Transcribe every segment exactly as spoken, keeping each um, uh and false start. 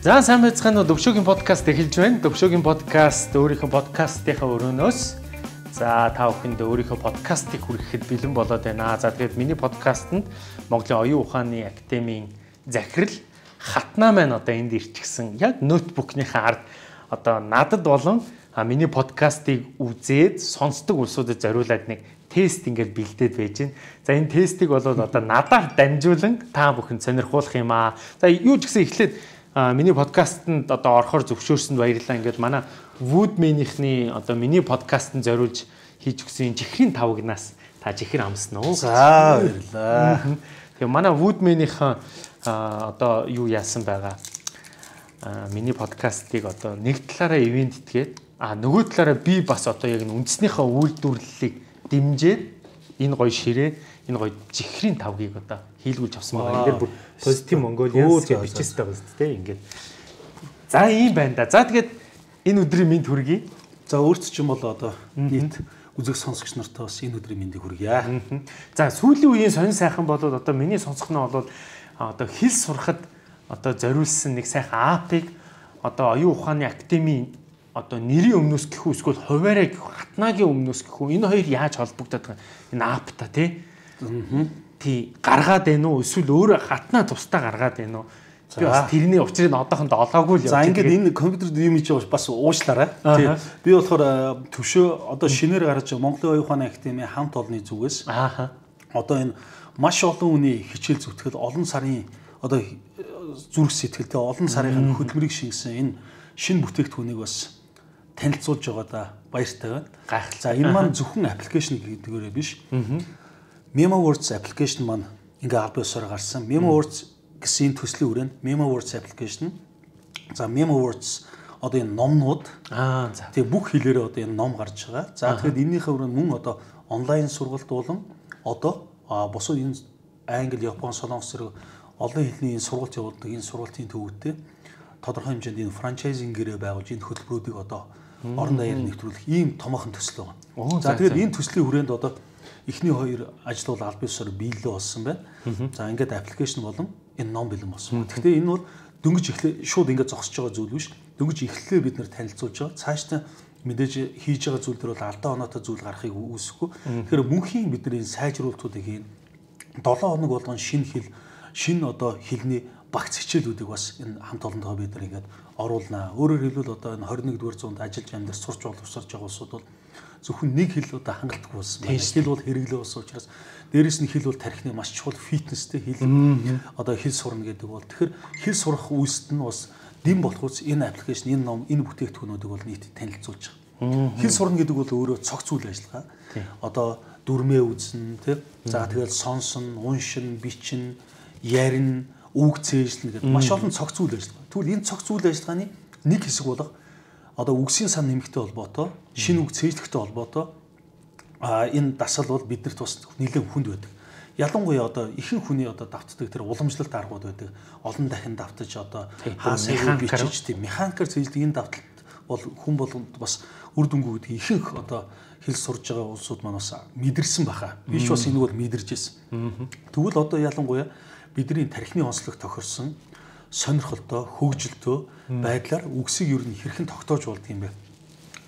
За сайн байцгаана уу Төвшөөгийн подкаст эхэлж байна. Төвшөөгийн подкаст өөрийнхөө подкастынхаа өрөөнөөс за та бүхэнд өөрийнхөө подкастыг хүргэхэд бэлэн болоод байна. За тэгээд миний подкастэнд Монголын оюун ухааны академийн захирал Хатнаа маань одоо энд ирчихсэн. Яг ноутбукныхаа ард одоо надад болон миний подкастыг үзээд сонсдог улсуудад зориулаад нэг тест ингээд бэлдээд байж байна. За энэ тестийг бол одоо надаар дамжуулан та бүхэнд сонирхуулах юм аа. За юу ч гэсэн эхлээд миний подкастэнд одоо орохоор зөвшөөрсөнд баярлалаа. Ингээд манай Woodman-ийнхний одоо миний подкастанд зориулж хийж өгсөн чихрийн тавгнаас та чихэр амсна уу? За баярлалаа. Тэгээ манай Woodman-ийнхаа одоо юу яасан байгаа? Миний подкастыг одоо нэг талаараа ивент итгээд а нөгөө талаараа би бас одоо яг үндснийхээ үйлдвэрлэлийг дэмжиж энэ гоё ширээ энэ гоё чихрийн тавгийг одоо хийлгүүлж авсан байгаа. Энд дээр бүр Positive Mongolians гэж бичсэн байгаа шүү дээ. Ингээд. За ийм байна да. За тэгээд энэ өдрийн мэнд хүргэе. За өөрт ч юм бол одоо нийт үзэг сонсогч нартай бас энэ өдрийн мэндийг хүргье. За сүүлийн үеийн сонин сайхан болоод одоо миний сонсох нь бол одоо хэл сурахад одоо зориулсан нэг сайхан апыг одоо оюун ухааны академийн одоо нэрийн өмнөөс гэх үү эсвэл хуваараа гэх хатнаагийн өмнөөс гэх үү энэ хоёр яаж холбогдоод байгаа энэ ап та тий. Тий гаргаад байна уу эсвэл өөрөө хатнаа тусдаа гаргаад байна уу? Би бас тэрний учрыг одоохондоо олоогүй л явж. За ингээд энэ компьютер юм чи бас уушлаарай. Тий. Би болохоор төвшөө одоо шинээр гарч байгаа Монголын оюун ухааны академийн хамт олонны зүгээс аа одоо энэ маш олон хүний хичээл зүтгэл олон сарын одоо зүрх сэтгэлтэй олон сарын хөдөлмөрийг шингэсэн энэ шинэ бүтээгдэхүүнийг бас танилцуулж байгаа да баяртай байна. Гайхал. За энэ маань зөвхөн аппликейшн гэдэгээрээ биш. MemoWords application маань ингээ аль биесээр гарсан. MemoWords гэсэн төслийн хүрээнд MemoWords application. За MemoWords одоо энэ номнууд аа за тэгээ бүх хэлээрээ одоо энэ ном гарч байгаа. За тэгэхээр энэнийхээ хүрээнд мөн одоо онлайн сургалт болон одоо бусад энэ англи, япон, солонгос зэрэг олон хэлний энэ сургалт явуулдаг энэ сургалтын төвөдтэй тодорхой хэмжээнд энэ франчайзингээрээ байгуулж энэ хөтөлбөрүүдийг одоо орон даяар нэвтрүүлэх ийм томоохон төсөл байгаа. За тэгээд энэ төслийн хүрээнд одоо эхний хоёр ажил бол аль биесээр биелэлээ болсон байна. За ингээд аппликейшн болон энэ ном бэлэн болсон. Гэхдээ энэ бол дөнгөж эхлээ шууд ингээд зогсож байгаа зүйл биш. Дөнгөж эхлэлээ бид нэр танилцуулж байгаа. Цаашдаа мэдээж хийж байгаа зүйл төр бол алдаа оноотой зүйл гарахыг үүсэхгүй. Тэгэхээр мөнхийн бид нар энэ сайжруулалтуудыг хийн. долоо хоног болгон шинэ хэл, шинэ одоо хэлний багц хичээлүүдийг бас энэ хамт олондоо бид нар ингээд оруулнаа. Өөрөөр хэлбэл одоо энэ хорин нэгдүгээр зуунд ажиллаж амьдарч сурч боловсрож байгаа улсууд бол зөвхөн нэг хэл одоо хангалтгүй болсон байна. Хэл бол хэрэглээ болсон учраас дээрэс нь хэл бол тархины маш чухал фитнестэй хэл одоо хэл сурна гэдэг бол тэгэхээр хэл сурах үйлсэд нь бас дэм болохоос энэ аппликейшн, энэ ном, энэ бүтээгдэхүүнүүдийг бол нийт танилцуулж байгаа. Хэл сурна гэдэг бол өөрөө цогц үйл ажиллагаа. Одоо дүрмээ үзнэ, тийм. За тэгэл сонсон, уншин, бичин, ярина, үг цээжлэн гэдэг маш олон цогц үйл ажиллагаа. Тэгвэл энэ цогц үйл ажиллагааны нэг хэсэг болох одоо үгсийн сан нэмэгтэй холбоотой, шинэ үг цээжлэхтэй холбоотой а энэ дасал бол биднэрт бас нэлээд хүнд байдаг. Ялангуяа одоо ихэнх хүний одоо давтдаг тэр уламжлалт аргууд байдаг. Олон дахин давтаж одоо хаасаа бичиж тийм механикаар цээжлэх энэ давталт бол хүн болгонд бас үр дүнгүй гэдэг ихэнх одоо хэл сурж байгаа улсууд маань бас мэдэрсэн баха. Биш бас энийг бол мэдэрч ирсэн. Тэгвэл одоо ялангуяа бидний тархины онцлог тохирсон сонирхолтой, хөгжилтэй байдлаар үгсийг ер нь хэрхэн тогтоож болдго юм бэ?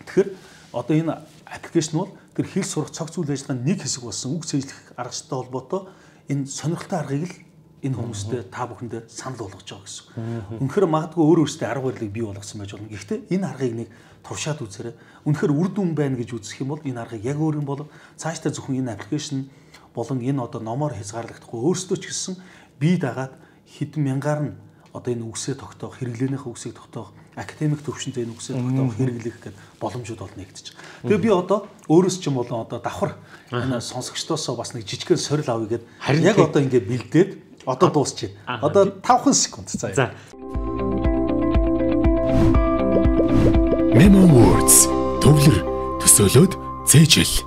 Тэгэхээр одоо энэ аппликейшн бол тэр хэл сурах цогц үйл ажиллагааны нэг хэсэг болсон үг цээжлэх аргатай холбоотой энэ сонирхолтой аргыг л энэ хүмүүстэй та бүхэндээ санал болгож байгаа гэсэн. Үнэхээр магадгүй өөр өөрсдөө арга барилыг бий болгосон байж болно. Гэхдээ энэ аргыг нэг туршаад үзээрэй. Үнэхээр үр дүн байна гэж үзэх юм бол энэ аргыг яг өөр юм бол цаашдаа зөвхөн энэ аппликейшн болон энэ одоо номоор хязгаарлагдахгүй өөрсдөө ч гэсэн бие дагаад хэдэн мянгаар нь одоо энэ үгсээ тогтоох, хэрэглээнийхээ үгсийг тогтоох, академик төвшөнтэй энэ үгсээ тогтоох, хэрэглэх гэдэг боломжууд бол нэгдэж байгаа. Тэгээ би одоо өөрөөс ч юм болон одоо давхар энэ сонсогчдоосоо бас нэг жижигхэн сорил авъя гэд яг одоо ингэ бэлдээд одоо дуусчих. Одоо тавхан секунд цаа. За. MemoWords төвлөр төсөөлөд цээжил.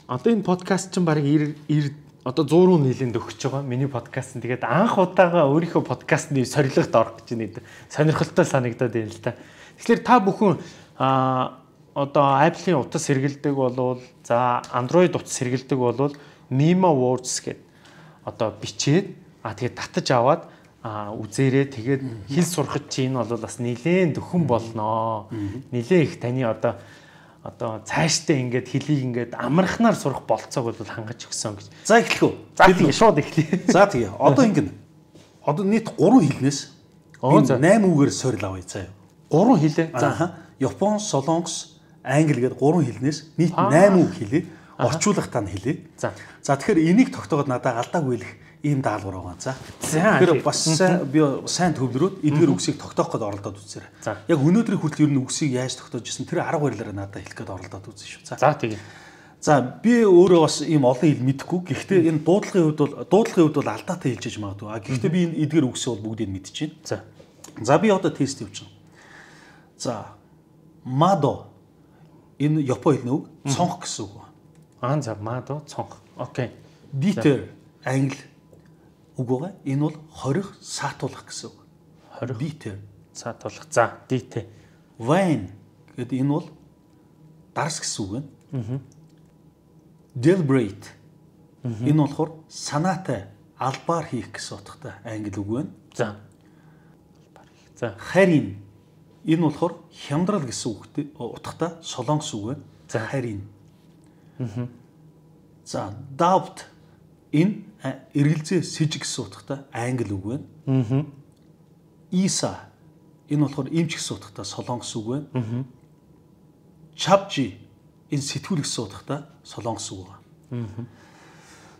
Одоо энэ подкаст чинь баг одоо сто руу нийлэнд өгч байгаа миний подкаст нь. Тэгээд анх удаага өөрийнхөө подкастны сорилгот орох гэж нэг сонирхолтой санагдаад байна л да. Тэгэхээр та бүхэн а одоо Apple-ийн утас сэргэлдэг болвол за Android утас сэргэлдэг болвол MemoWords гэдэг одоо бичээд а тэгээд татаж аваад аа үзээрээ тэгээд хэл сурахад чи энэ бол бас нэлээд дөхөн болноо. Нэлээд их таны одоо одоо цаашдаа ингээд хэлийг ингээд амархнаар сурах болцоог бол хангаж өгсөн гэж. За эхлэх үү? За тэгээ шууд эхлэе. За тэгээ. Одоо ингэнэ. Одоо нийт гурван хэлнээс восемь үгээр сорил авъя заяа. Гурван хэлээ. За Япон, Солонгос, Англи гэдэг гурван хэлнээс нийт восемь үг хэлээ. Орчуулах тань хэлээ. За. За тэгэхээр энийг тогтоогод надад алдаагүй л ийм даалгавар байгаа. За. Тэгэхээр бас би сайн төвлөрөөд эдгээр үгсийг тогтоох гээд оролдоод үзээрэй. Яг өнөөдрийн хүртэл ер нь үгсийг яаж тогтоож ирсэн тэр арга барилаараа надад хэлэх гээд оролдоод үзсэн шүү. За. За тийм. За би өөрөө бас ийм олон хэл мэдэхгүй. Гэхдээ энэ дуудлагын хувьд бол дуудлагын хувьд бол алдаатай хэлж магадгүй. А гэхдээ би энэ эдгээр үгсээ бол бүгдийг мэдчихээн. За. За би одоо тест явуулчихна. За. Мадо энэ Япон хэлний үг цонх гэсэн үг. Аа за мадо цонх. Окей. Дитер англи үг байгаа. Энэ бол хорих, саатуулах гэсэн үг. Хорих, дитер, саатуулах. За, дитэ. Вайн гэдэг энэ бол дарс гэсэн үг байна. Аа. Deliberate. Энэ болохоор санаатай албаар хийх гэсэн утгатай англи үг байна. За. Албаар хийх. За. Харин энэ болохоор хямдрал гэсэн үгтэй утгатай солонгос үг байна. За. Харин. Аа. За, doubt энэ эргэлзээ сэжиг гэсэн утгатай англи үг байна. Аа. Иса энэ болохоор эмч гэсэн утгатай солонгос үг байна. Аа. Чапжи энэ сэтгүүл гэсэн утгатай солонгос үг байна. Аа.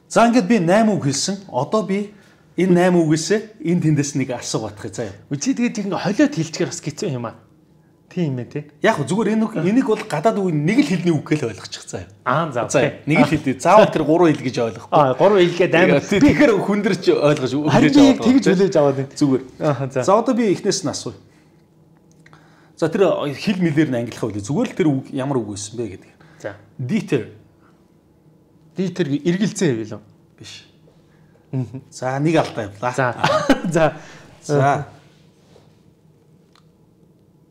За ингээд би восемь үг хэлсэн. Одоо би энэ восемь үгээс энэ тэндээс нэг асуу батгах заяа. Үгүй тэгээд ингэ холиод хэлчихээр бас хэцүү юм аа. Тийм ээ тий. Яг зүгээр энэ энийг бол гадаад үг нэг л хэлний үг гэж ойлгочих заяа. Аа за окей. Нэг л хэлээ. Заавал тэр гурван хэл гэж ойлгохгүй. Аа гурван хэлгээд амар би ихэр хүндэрч ойлгож хүлээж аваад тэгж хүлээж аваад байна. Зүгээр. Аа за. За одоо би эхнээс нь асууя. За тэр хэл мэлээр нь ангилах байлаа. Зүгээр л тэр үг ямар үг байсан бэ гэдэг. За. Diter. Diter эргэлзээ байв л уу? Биш. За нэг алдаа явлаа. За. За. За.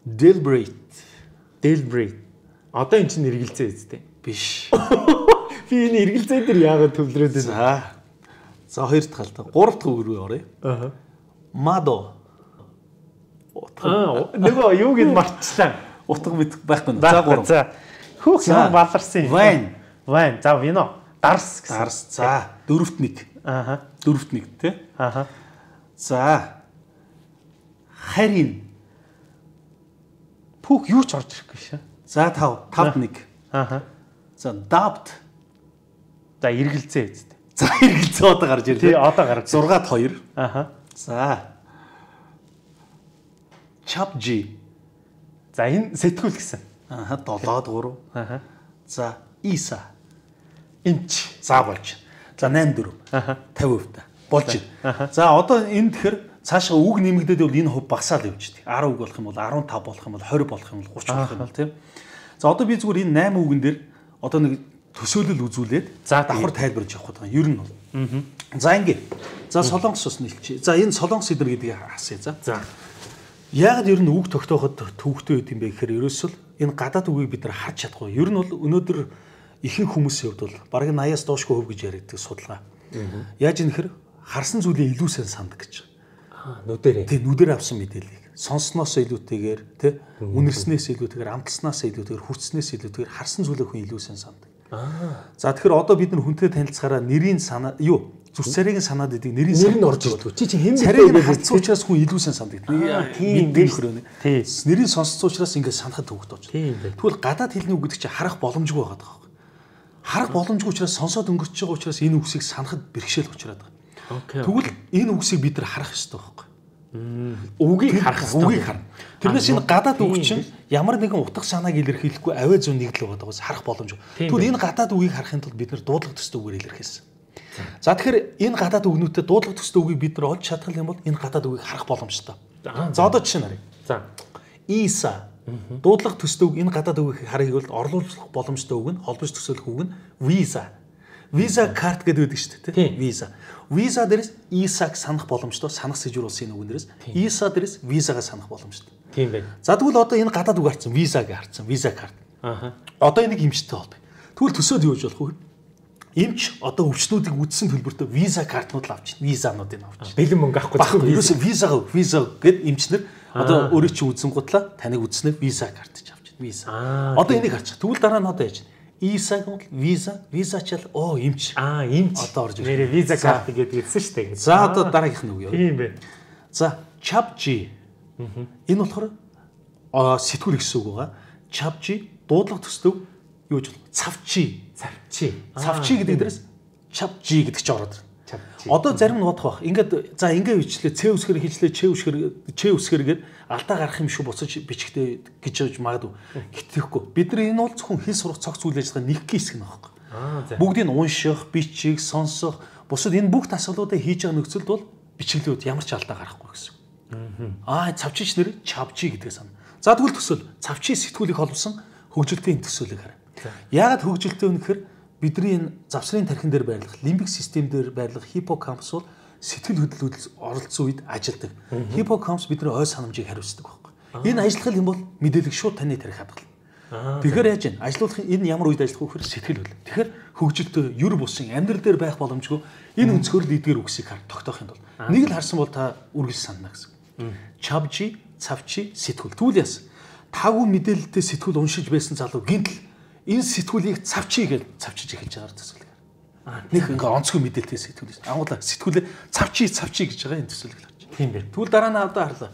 Deliberate. Deliberate. Одоо эн чинь эргэлзээ үстэй. Биш. Би энэ эргэлзээ дээр яагаад төвлөрөөд байна? За. За хоёр дахь алдаа. Гурав дахь үг рүү оръё. Аа. Мадо. Аа, нөгөө юуг нь марцлаа. Утга мэд байхгүй. За гурав. За. Хүүх юм баларсан юм. Wine. Wine. За вино. Дарс гэсэн. Дарс. За. Дөрөвт нэг. Ааха. Дөрөвт нэг тий. Ааха. За. Харин. Пүүх юу ч орж ирэхгүй шээ. За тав. Тавд нэг. Ааха. За doubt. За эргэлзээ үстэй. За эргэлзээ одоо гарч ирлээ. Тий, одоо гарч. зургаад хоёр. Ааха. За. Chapji. За энэ сэтгүүл гэсэн. Ааха, долоод гурав. Ааха. За, Isa. Эмч. За болж. За восемь дөрөв. Ааха. пятьдесят хувь болж байна. За одоо энэ тэгэхээр цаашаа үг нэмэгдээд бол энэ хувь багасаал явж дээ. десять үг болох юм бол15 болох юм бол twenty болох юм бол thirty болох юм бол тийм. За одоо би зүгээр энэ восемь үгэн дээр одоо нэг төсөөлөл үзүүлээд давхар тайлбарж явах гэдэг юм. Ер нь бол. За ингэ. За солонгос ус нэлчээ. За энэ солонгос эдэр гэдгийг асууя. За. За. Яг ер нь үг тогтооход төвхтэй байд юм бэ гэхээр ерөөсөл энэ гадаад үгийг бид нар харж чадахгүй. Ер нь бол өнөөдөр ихэнх хүмүүсийн хувьд бол бараг eighty-аас доошгүй хөв гэж ярьдаг судалгаа. Яаж юм хэр харсан зүйлээ илүү сайн санд гэж. Аа нүдэрээ. Тэг нүдээр авсан мэдээллийг сонссноос илүүтэйгээр тэ үнэрснээс илүүтэйгээр амталснаас илүүтэйгээр хүртснээс илүүтэйгээр харсан зүйлээ хүн илүү сайн санд. Аа. За тэгэхээр одоо бид нар хүнтэй танилцахаараа нэрийн санаа юу зүс царайгийн санаад идэг нэрийн нэр нь орж ирдэг. Чи чи хэн бэ царайг харцсан учраас хүн илүү сайн санддаг. Тийм нөхрөө. Тийм. Нэрийн сонссон учраас ингээд санахад төвөгдөж. Тийм. Тэгвэл гадаад хэлний үг гэдэг чинь харах боломжгүй байгаа даа. Харах боломжгүй учраас сонсоод өнгөрч байгаа учраас энэ үгсийг санахад бэрхшээл учраад байгаа. Окей. Тэгвэл энэ үгсийг бид нар харах ёстой байхгүй. Үгийг харах ёстой. Үгийг харна. Тэрнээс энэ гадаад үг чинь ямар нэгэн утга санааг илэрхийлэхгүй авиа зүүн нэг л байгаа даа. Харах боломжгүй. Тэгвэл энэ гадаад үгийг харахын тулд бид нар дуудлага төстэй үгээр илэрхийлсэн. За тэгэхээр энэ гадаад үгнүүдэд дуудлага төстэй үгийг бид нар олж чадах юм бол энэ гадаад үгийг харах боломжтой. За одоо жишээ нарыг. За. Isa дуудлага төстэй үг энэ гадаад үгийг харахыг бол орлуулах боломжтой үг нь холбож төсөөлөх үг нь Visa. Visa card гэдэг байдаг шүү дээ, тийм. Visa. Visa дээрээс Isa-г санах боломжтой, санах сэжүүр улсын үг нэрээс Isa дээрээс Visa-г санах боломжтой. Тийм байна. За тэгвэл одоо энэ гадаад үг харцсан, Visa-г харцсан, Visa card. Аха. Одоо энийг эмчтэй болбой. Тэгвэл төсөөд юу гэж болох вэ? Эмч одоо өвчнүүдийг үдсэн төлбөртөө виза картнууд л авч, визануудыг авч. Бэлэн мөнгө авахгүй. Ерөөсөө виза виза гэд эмчнэр одоо өөрөө чи үдсэн гутлаа таныг үдснээр виза карт ч авч. Виза. Одоо энийг харчих. Тэгвэл дараа нь одоо яаж? Исаг бол виза, виза чал оо эмч. Аа, эмч. Одоо орж ирсэн. Нэрээ виза карт гэдэг хэлсэн шүү дээ. За одоо дараагийнх нь үгүй юу? Тийм бэ. За, чапжи. Энэ болохоор сэтгүүл гэсэн үг байгаа. Чапжи дуудлага төслөв юу гэж бол цавчи. Цавчи. Цавчи гэдэг дээрээс чапжи гэдэг ч ороод ирнэ. Чапжи. Одоо зарим нь бодох бах. Ингээд за ингээ бичлээ, цэ үсгэр хийчлээ, чэ үсгэр, чэ үсгэргээд алдаа гарах юм шүү буцаж бичгтээ гэж явж магадгүй. Гэтэхгүй. Бид нар энэ бол зөвхөн хэл сурах цогц үйл ажиллагаа нэг хэсэг нь байхгүй. Бүгдийг нь унших, бичих, сонсох, бусад энэ бүх асуулуудыг хийж байгаа нөхцөлд бол бичиглүүд ямар ч алдаа гарахгүй гэсэн. Аа, цавчич нэр чавчи гэдгээ сана. За тэгвэл төсөөл цавчи сэтгүүлийг холбосон хөгжилтийн төсөөлийг хараа. Яагаад хөгжилтэй вэ гэхээр бидний энэ завсрын тархин дээр байрлах, лимбик систем дээр байрлах хиппокампус бол сэтгэл хөдлөлд оролцсон үед ажилдаг. Хиппокампус бидний ой санамжийг хариуцдаг байхгүй. Энэ ажиллах юм бол мэдээлэл шууд таны тарих хадгална. Тэгэхээр яаж вэ? Ажиллах энэ ямар үед ажиллах вэ гэхээр сэтгэл хөдлөл. Тэгэхээр хөгжилтэй ер бусын амьдрал дээр байх боломжгүй энэ өнцгөр л эдгээр үгсийг хар тогтоохын тулд нэг л харсан бол та үргэлж санана гэсэн. Чавчи, цавчи, сэтгүүл. Түүл яасан. Таагүй мэдээлэлтэй сэтгүүл уншиж байсан залуу гинтл энэ сэтгүүлийг цавчи гэж цавчиж эхэлж байгаа төсөөлөг. Нэг ингээ онцгой мэдээлэлтэй сэтгүүл. Ангуулаа сэтгүүлээ цавчи, цавчи гэж байгаа энэ төсөөлөг л авчих. Тийм бэ. Түүл дараа нь авдаа харлаа.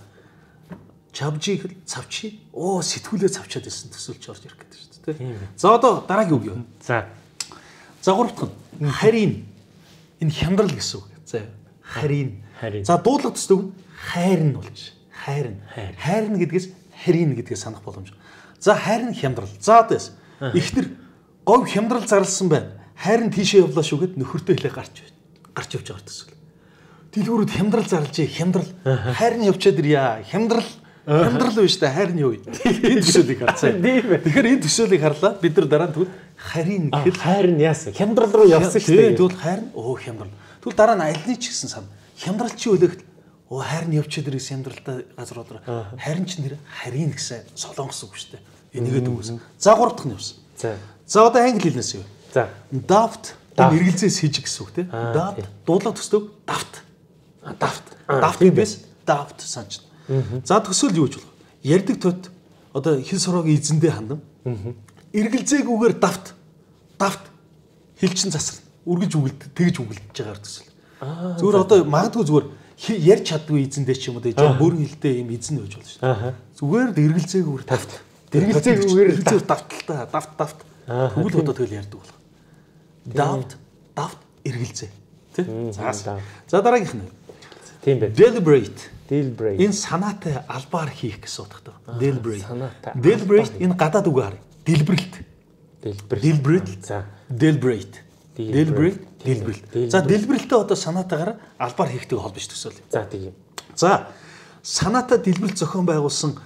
Чавчи, цавчи, оо сэтгүүлээ цавчаад байсан төсөөлч орж ирэх гэдэг шүү дээ. За одоо дараагийн үг юу? За. За гурав дахь нь харийн. Энэ хямдрал гэсэн үг. За харийн. За дуудлага төслөг нь хайрн болж. Хайрн. Хайрн гэдгээс харийн гэдгээс санах боломж. За хайрн хямдрал. За одоос ихтер говь хямдрал зарласан байна. Хайрн тийшээ явлаа шүү гэд нөхөртөө хэлээ гарч гарч явж байгаа төсөл. Дэлгүүрүүд хямдрал зарлж хямдрал хайрн явчаад ирья. Хямдрал хямдрал биш та хайрн юу. Энэ төсөөлийг харцаа. Тэгэхээр энэ төсөөлийг харлаа. Бид нар дараа нь тэгвэл харийн гэхэл хайрн яасан. Хямдрал руу явсан шүү дээ. Тэгвэл хайрн оо хямдрал. Тэгвэл дараа нь альны ч гэсэн сан. Хямдрал чи өлөгт оо хайрн явчаад ирээс хямдралтай газрууд хайрн ч нэр харийн гэсэн солонгос үг шүү дээ. Энийгээ дүгсэн. За гурав дахь нь явсан. За. За одоо англи хэлнээс юу? За. Daft энэ эргэлзээс хийж гэсэн үг тийм. Daft дуудлага төслөг daft. Daft. Daft гэбээс daft санаж. За төсөөл юу гэж болох? Ярддаг тод одоо хэл сураагийн эзэндээ хандан. Эргэлзээгүйгээр daft. Daft хэлчин засал. Үргэж үгэлд тэгж үгэлдэж байгаа төсөөл. Зүгээр одоо магадгүй зүгээр ярьж чаддгүй эзэндээ ч юм уу тийм бүрэн хэлтэй юм эзэн байж болно шүү дээ. Зүгээр эргэлзээгүйгээр daft. Эргэлзээгүйгээр эргэлзээ давталтай daft daft. Тэгвэл одоо тэгэл ярьдаг болох. Daft, daft эргэлзээ. Тэ? За. За дараагийнх нь. Тийм байна. Deliberate. Deliberate. Энэ санаатай албаар хийх гэсэн утгатай. Deliberate. Deliberate энэ гадаад үг харъя. Дэлбэрэлт. Deliberate. За. Deliberate. Deliberate. Deliberate. За дэлбэрэлтээ одоо санаатайгаар албаар хийхтэйг холбож төсөөлье. За тийм. За санаатай дэлбэрэлт зохион байгуулсан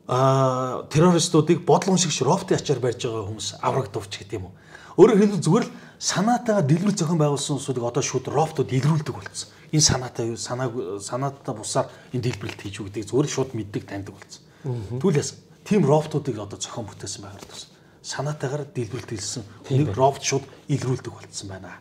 а террористуудыг бодлон шигш роботын ачаар барьж байгаа хүмүүс аврагдавч гэдэг юм уу. Өөрөөр хэлбэл зүгээр л санаатайгаар дэлбэрэлт зохион байгуулсан хүмүүсийг одоо шууд роботууд илрүүлдэг болсон. Энэ санаатай юу санааг санаатай бусаар энэ дэлбэрэлт хийж үү гэдэг зүгээр шууд мэддэг таньдаг болсон. Тэгвэл яасан? Тим роботуудыг одоо зохион бүтээсэн байгаа гэсэн. Санаатайгаар дэлбэрэлт хийсэн нэг робот шууд илрүүлдэг болсон байна.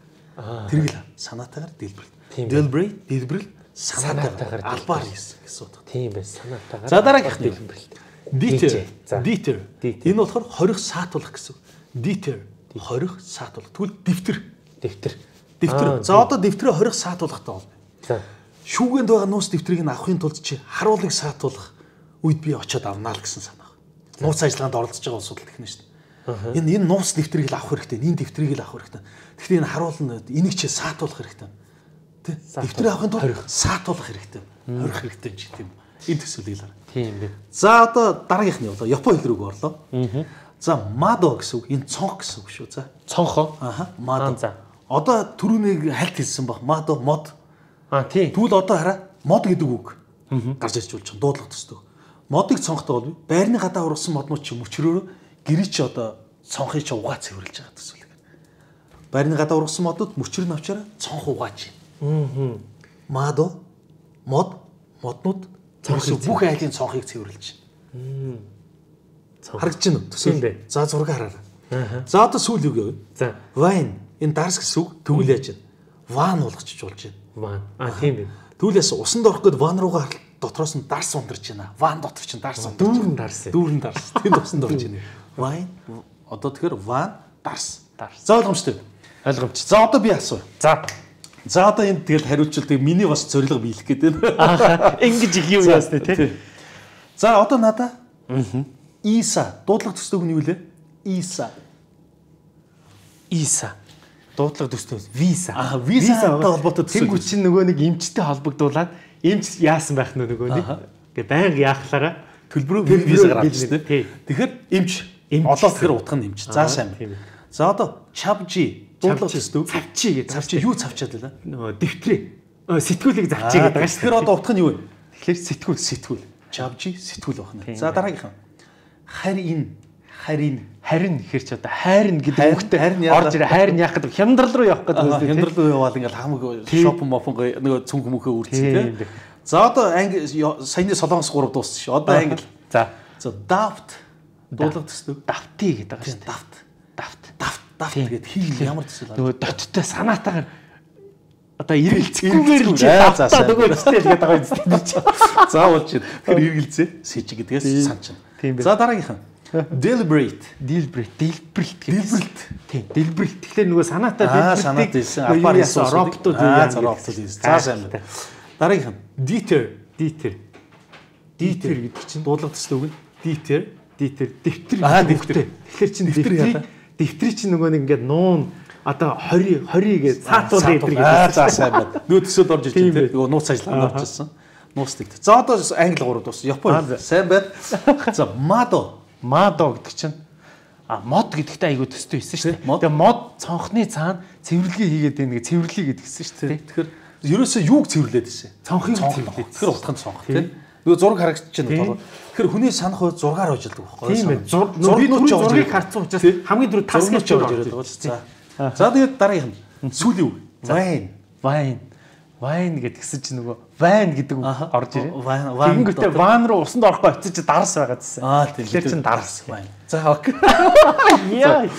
Тэргэл санаатайгаар дэлбэрэлт. Deliberate дэлбэрэлт санаатайгаар албаар хийсэн гэсэн утга. Тийм байна. Санаатайгаар. За дараагийнх дэлбэрэлт. Deter. Deter. Энэ болохоор хорих саатуулах гэсэн. Deter. Хорих саатуулах. Тэгвэл дэвтэр. Дэвтэр. Дэвтэр. За одоо дэвтрээ хорих саатуулахтай бол. За. Шүүгэнд байгаа нууц дэвтрийг нь авахын тулд чи харуулыг саатуулах үед би очиод авнаа л гэсэн санаа. Нууц ажиллагаанд оролцож байгаа улсууд л гэх юм шүү дээ. Энэ энэ нууц дэвтрийг л авах хэрэгтэй. Энэ дэвтрийг л авах хэрэгтэй. Гэхдээ энэ харуул нь энийг чи саатуулах хэрэгтэй. Тэ? Дэвтрээ авахын тулд саатуулах хэрэгтэй. Хорих хэрэгтэй ч гэдэг юм. Энэ төсөөлийг л. Тийм бэ. За одоо дараагийнх нь явлаа. Япон хэл рүү орлоо. За мадо гэсэн үг. Энэ цонх гэсэн үг шүү. За. Цонхоо. Аха. Мадо. За. Одоо түрүүнийг хальт хэлсэн баг. Мадо мод. Аа тийм. Тэгвэл одоо хараа мод гэдэг үг гарч ирж болж байгаа. Дуудлага төсдөг. Модыг цонхтой бол байрны гадаа ургасан моднууд чи мөчрөөрөө гэрээ чи одоо цонхыг чи угаа цэвэрлж байгаа төсөл. Байрны гадаа ургасан модууд мөчрөө навчаараа цонх угааж байна. Аа. Мадо мод моднууд цонхыг бүх айлын цонхыг цэвэрлж байна. Харагдаж байна уу? Төсөл. За зураг хараарай. За одоо сүүл юу гэв? За. Wine. Энэ дарс гэсэн үг тэгвэл яаж байна? Ван болгочих болж байна. Ван. А тийм байна. Тэгвэл яасан усанд орох гээд ван руугаа дотроос нь дарс ундарч байна. Ван дотор чинь дарс ундарч. Дүүрэн дарс. Дүүрэн дарс. Тэнд усанд орж байна. Вайн одоо тэгэхээр ван дарс. Дарс. За ойлгомжтой. Ойлгомжтой. За одоо би асуу. За. За одоо энэ тэгэл хариултыг миний бас зорилго биелэх гээд байна. Ааха. Ингэж их юм яасна тий. За одоо надаа. Аа. Иса дуудлага төсдөг нь юу лээ? Иса. Иса. Дуудлага төсдөг. Виса. Аа, визатай холбоотой төсөв. Тэнгүү чинь нөгөө нэг эмчтэй холбогдуулаад эмч яасан байх нь нөгөө нэг. Гэ байнга яахлаараа төлбөрөө виза гаргаж штэ. Тэгэхээр эмч. Одоо тэгэхээр утга нь эмч. За сайн байна. За одоо чавжи дуудлага төсдөг. Цавчи гэдэг. Цавчи юу цавчаад байлаа? Нөгөө дэвтрээ. Сэтгүүлийг завчи гэдэг байгаа шүү. Тэгэхээр одоо утга нь юу вэ? Тэгэхээр сэтгүүл сэтгүүл. Чавжи сэтгүүл байна. За дараагийнхан. Харин харин харин гэхэр ч одоо хайрн гэдэг үгтэй орж ирээ хайрн яах гэдэг хямдрал руу явах гэдэг үгтэй хямдрал руу яваал ингээл хамаг шопон мопон нөгөө цүнх мөхөө үрдсэн тийм. За одоо анги саяны солонгос гурав дууссан шүү. Одоо англи. За. За давт дуудлага төсдөг. Давти гэдэг байгаа шүү. Давт. Давт. Давт. Давт гэдэг хийл ямар төсөл байна? Нөгөө доттой санаатаагаар одоо эргэлцэхгүйгээр л давтаа нөгөө өстэй л гэдэг байгаа юм чинь. За уулж байна. Тэгэхээр эргэлзээ сэжиг гэдгээс санчна. За дараагийнхан. Deliberate, deliberate, deliberate deliberate. Тийм, deliberate. Тэгэхээр нөгөө санаатаа deliberate. Аа, санаат ийсэн. Апаар хийсэн роботууд юу яа. Роботууд ийсэн. За сайн байна. Дараагийнхан. Deter, deter. Deter гэдэг чинь дуудлага төсдөг нь deter, deter, дэвтэр. Аа, дэвтэр. Тэгэхээр чинь дэвтрийг дэвтрийг чинь нөгөө нэг ингээд нуун одоо тwenty twenty гэж цаатуул дэвтэр гэдэг. Аа, за сайн байна. Нөгөө төсөөд орж ирж байна. Нөгөө нууц ажиллагаанд орж ирсэн. Нуусдаг. За одоо англи гурав дууссан. Япон. Сайн байна. За мадо. Мадо гэдэг чинь а мод гэдэгтэй айгуу төстэй байсан шүү дээ. Тэгээ мод цонхны цаана цэвэрлэгээ хийгээд байна гэж цэвэрлэе гэдгсэн шүү дээ. Тэгэхээр ерөөсөө юуг цэвэрлээд байсан? Цонхыг цэвэрлээд. Тэгэхээр утганд цонх тийм. Нөгөө зураг харагдаж байна. Тэгэхээр хүний санах хувьд зургаар ойжилдаг байхгүй юу? Тийм ээ. Зургнууд зургийг харцсан учраас хамгийн түрүү тасгаж орж ирээд байгаа шүү. За. За тэгээд дараагийнх нь сүүлийн үг. Wine. Wine. Wine гэдгсэн чинь нөгөө вайн гэдэг үг орж ирээ. Вайн. Тэгэнгүүтээ ван руу усанд орохгүй очиж дарс байгаа гэсэн. Аа тийм. Тэгэхээр чинь дарс вайн. За окей. Яа.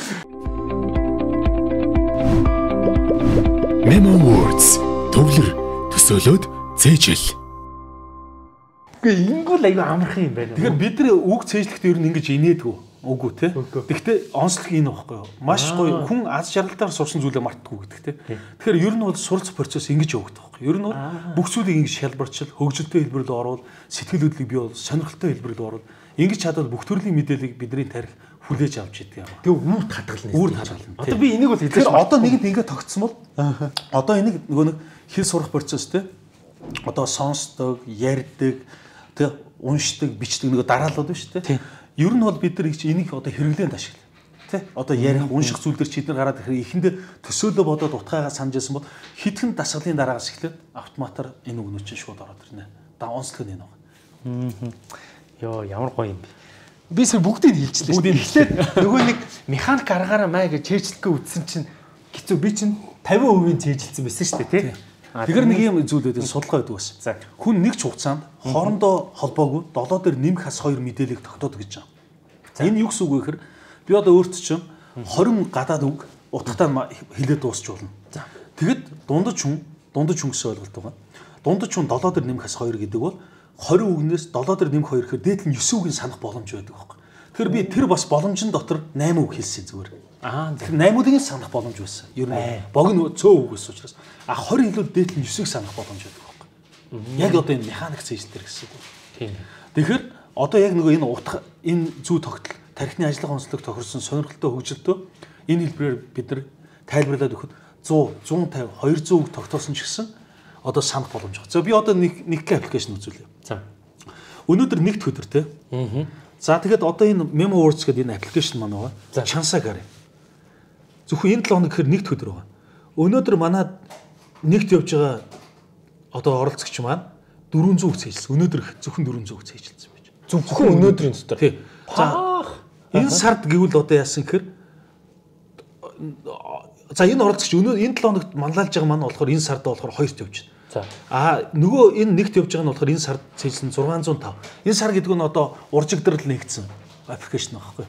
Memo words төвлөр төсөөлөд цээжэл. Гэхдээ ингүүл аюу амархан юм байна. Тэгэхээр бид нар үг цээжлэхдээ ер нь ингэж инээдгүү. Үгүй те. Гэхдээ онцлог энэ байхгүй юу? Маш гоё хүн аз жаргалтаар сурсан зүйлээ мартдаггүй гэдэг те. Тэгэхээр ер нь бол суралц процесс ингэж явагдах байхгүй юу? Ер нь бол бүх зүйлийг ингэж шалбарчил, хөгжилтэй хэлбэр рүү оруул, сэтгэл хөдлөлийг бий бол сонирхолтой хэлбэр рүү оруул. Ингэж чадвал бүх төрлийн мэдээллийг бидний тарих хүлээж авч идэг юм. Тэгээ үүрт хадгална. Үүрт хадгална. Одоо би энийг бол хэлж байна. Одоо нэгэнд ингэ тогтсон бол одоо энийг нөгөө нэг хэл сурах процесс те. Одоо сонсдог, ярьдаг, тэг уншдаг, бичдэг нөгөө дараалал байна шүү те. Ер нь бол бид нар энийг одоо хэрэглээнд ашиглав. Тэ? Одоо ярих, унших зүйлээр чи эдгээр гараад ирэхээр эхэндээ төсөөлөө бодоод утгаагаа санаж байсан бол хитгэн дасгалын дараагаас эхлээд автоматар энэ үгнүүд чинь шууд ороод ирнэ. Да онцлог нь энэ байна. Йоо, ямар гоё юм бэ. Би сая бүгдийг хэлчихлээ. Бүгдийг эхлээд нөгөө нэг механик аргаараа маа гэж чэйжлэхгээ үтсэн чинь хэцүү би чинь fifty percent чэйжилсэн байсан шүү дээ, тий? Тэгэхээр нэг юм зүйл үүдэн судалгаа өгдөг байсан. Хүн нэг ч хугацаанд хоорондоо холбоогүй долоо дээр нэмэх хас хоёр мэдээллийг тогтоодог гэж байна. Энэ юу гэсэн үг вэ гэхээр би одоо өөрт чинь twenty гадаад үг утгатай хэлээд дуусч болно. Тэгэд дундаж хүн дундаж хүн гэсэн ойлголт байгаа. Дундаж хүн долоо дээр нэмэх хас хоёр гэдэг бол twenty үгнээс долоо дээр нэмэх хоёр гэхээр дээдл нь nine үгийн санах боломж байдаг байхгүй. Тэгэхээр би тэр бас боломжийн дотор eight үг хэлсэн зүгээр. Аа тэгэхээр eight үгийн санах боломж байсан. Ер нь богино цөө үг гэсэн учраас а twenty хэлүүд дээдл нь nine-ыг санах боломж байдаг байхгүй. Яг одоо энэ механик цэжлэлтэр гэсэн үг. Тийм. Тэгэхээр одоо яг нөгөө энэ утга энэ зүй тогтол тархины ажиллах онцлог тохирсон сонирхолтой хөгжилтөө энэ хэлбэрээр бид нар тайлбарлаад өгөхөд one hundred, one fifty, two hundred үг тогтоосон ч гэсэн одоо санах боломж байгаа. За би одоо нэг нэг аппликейшн үзүүлье. За. Өнөөдөр нэгд өдөр те. Аа. За тэгэхэд одоо энэ Memo Words гэдэг энэ аппликейшн маань байгаа. Чансаа гарыг. Зөвхөн энэ seven хоног гэхээр нэгд өдөр байгаа. Өнөөдөр манай нэгт явж байгаа одоо оролцогч маань four hundred үг цээжилсэн. Өнөөдөр зөвхөн four hundred үг цээжилсэн байж. Зөвхөн өнөөдрийн дотор. Тий. За энэ сард гэвэл одоо яасан гэхээр за энэ оролцогч өнөө энэ seven хоногт манлайлж байгаа маань болохоор энэ сард болохоор хоёрт явж байна. За. А нөгөө энэ нэгт явж байгаа нь болохоор энэ сард цээжилсэн six hundred five. Энэ сар гэдэг нь одоо уржигдрал нэгдсэн аппликейшн байхгүй.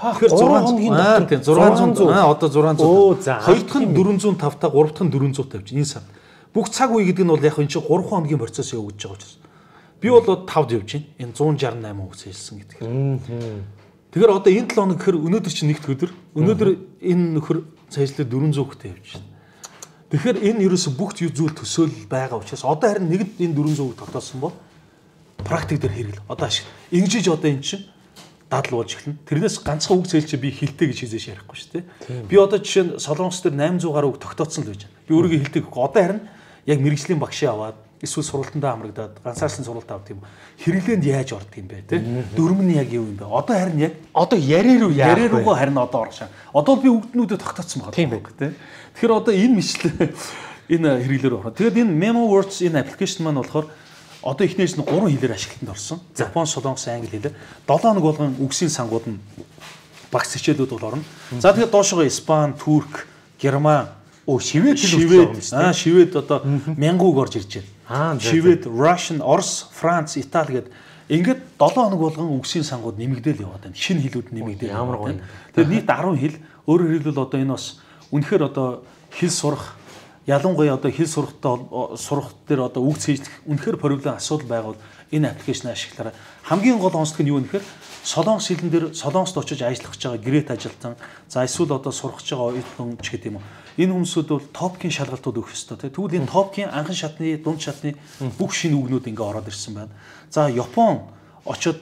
Тэгэхээр зураг хоногийн дотор тийм зургаан зуун аа одоо зургаан зуун. Хоёр дахь нь дөрвөн зуун тавь та гурав дахь нь дөрвөн зуун тавьж энэ сар. Бүх цаг үе гэдэг нь бол яг энэ чинь гурван хоногийн процесс явагдаж байгаа учраас. Би бол тавд явж байна. Энэ one sixty-eight хүүхд хэлсэн гэдэг. Тэгэхээр одоо энэ seven хоног гэхэр өнөөдөр чинь нэгд өдөр. Өнөөдөр энэ нөхөр цайжлаа four hundred хүүхдэд явж байна. Тэгэхээр энэ ерөөсө бүх зүйл төсөөлөл байгаа учраас одоо харин нэгд энэ four hundred хүүхд тогтоосон бол практик дээр хэрэгэл. Одоо ашиг. Ингэж одоо энэ чинь дадал болж эхэлнэ. Тэрнээс ганцхан үг зээл чи би хилтэй гэж хийжээш ярихгүй шүү дээ. Би одоо жишээ нь Солонгос дээр eight hundred гаруй үг тогтооцсон л байж байна. Би өөрийгөө хилтэй гэхгүй. Одоо харин яг мэрэгжлийн багшаа аваад эсвэл сургалтандаа амрагдаад ганцаарсан сургалт авдаг юм. Хэрэглээнд яаж ордог юм бэ те? Дөрөв нь яг юу юм бэ? Одоо харин яг одоо яриа руу яа. Яриа руугаа харин одоо орох шаа. Одоо би үгднүүдэд тогтооцсон байгаа. Тийм байх те. Тэгэхээр одоо энэ мэтлээ энэ хэрэглээр орох. Тэгээд энэ MemoWords энэ аппликейшн маань болохоор одоо эхнээс нь гурван хэлээр ашиглалтанд орсон. Япон, Солонгос, Англи хэлээр seven хоног болгон үгсийн сангууд нь багц хичээлүүд бол орно. За тэгээд доошоо Испани, Турк, Герман, оо Швед хэл үү? Аа Швед одоо мянган үг орж ирж байна. Швед, Russian, Орос, Франц, Итали гэдэг ингээд seven хоног болгон үгсийн сангууд нэмэгдээл яваад байна. Шинэ хэлүүд нэмэгдээл яваад байна. Тэгээд нийт ten хэл. Өөрөөр хэлбэл одоо энэ бас үнэхээр одоо хэл сурах ялангуяа одоо хэл сурахтай сурах дээр одоо үг цээжлэх үнэхээр проблем асуудал байгавал энэ аппликейшн ашиглаараа хамгийн гол онцлог нь юу нөхөр Солонгос хэлэн дээр Солонгост очиж ажиллах гэж байгаа гэрээт ажилтан за эсвэл одоо сурах гэж байгаа оюутан ч гэдэг юм уу энэ хүмүүсүүд бол топкийн шалгалтууд өгөх ёстой тийм тэгвэл энэ топкийн анхан шатны дунд шатны бүх шинэ үгнүүд ингээ ороод ирсэн байна. За Япон очоод